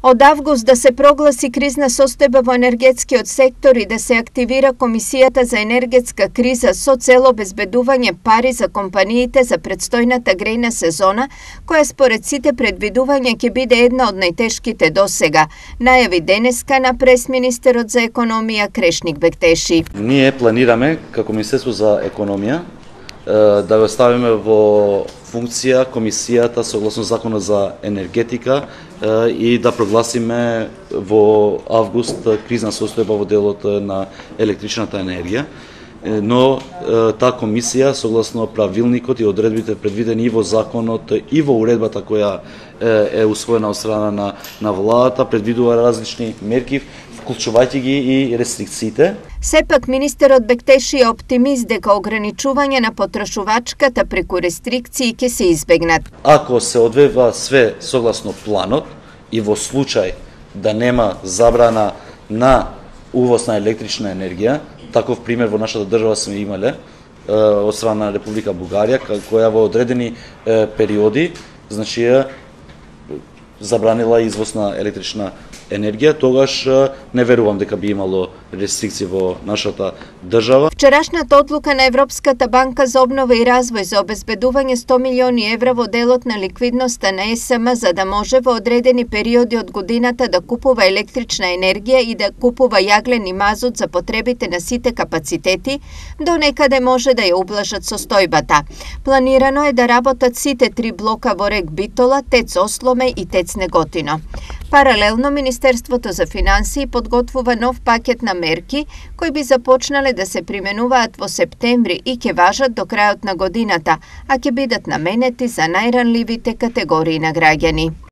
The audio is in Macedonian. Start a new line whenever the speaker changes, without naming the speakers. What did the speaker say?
Од август да се прогласи кризна состојба во енергетскиот сектор и да се активира Комисијата за енергетска криза со цел обезбедување пари за компаниите за предстојната грејна сезона, која според сите предвидувања ќе биде една од најтешките досега, најави денеска на пресминистерот за економија Крешник Бектеши.
Ние планираме како Министерство за економија да го ставиме во функција комисијата согласно Законот за енергетика и да прогласиме во август кризна состојба во делот на електричната енергија. Но таа комисија согласно правилникот и одредбите предвидени и во законот и во уредбата која е усвоена од страна на владата предвидува различни мерки, вклучувајќи ги и рестрикциите.
Сепак министерот Бектеши е оптимист дека ограничување на потрошувачката преку рестрикции ќе се избегнат.
Ако се одвива све согласно планот и во случај да нема забрана на увоз на електрична енергија, таков пример во нашата држава сме имале од страна на Република Бугарија, која во одредени периоди, значи забранила извоз на електрична енергија, тогаш не верувам дека би имало рестрикции во нашата држава.
Вчерашната одлука на Европската банка за обнова и развој за обезбедување 100 милиони евра во делот на ликвидноста на ЕСМ за да може во одредени периоди од годината да купува електрична енергија и да купува јаглен и мазут за потребите на сите капацитети, до некаде може да ја ублажат состојбата. Планирано е да работат сите 3 блока во рек Битола, ТЕЦ Осломе и ТЕЦ Неготино. Паралелно, Министерството за финансии подготвува нов пакет на мерки кои би започнале да се применуваат во септември и ќе важат до крајот на годината, а ќе бидат наменети за најранливите категории на граѓани.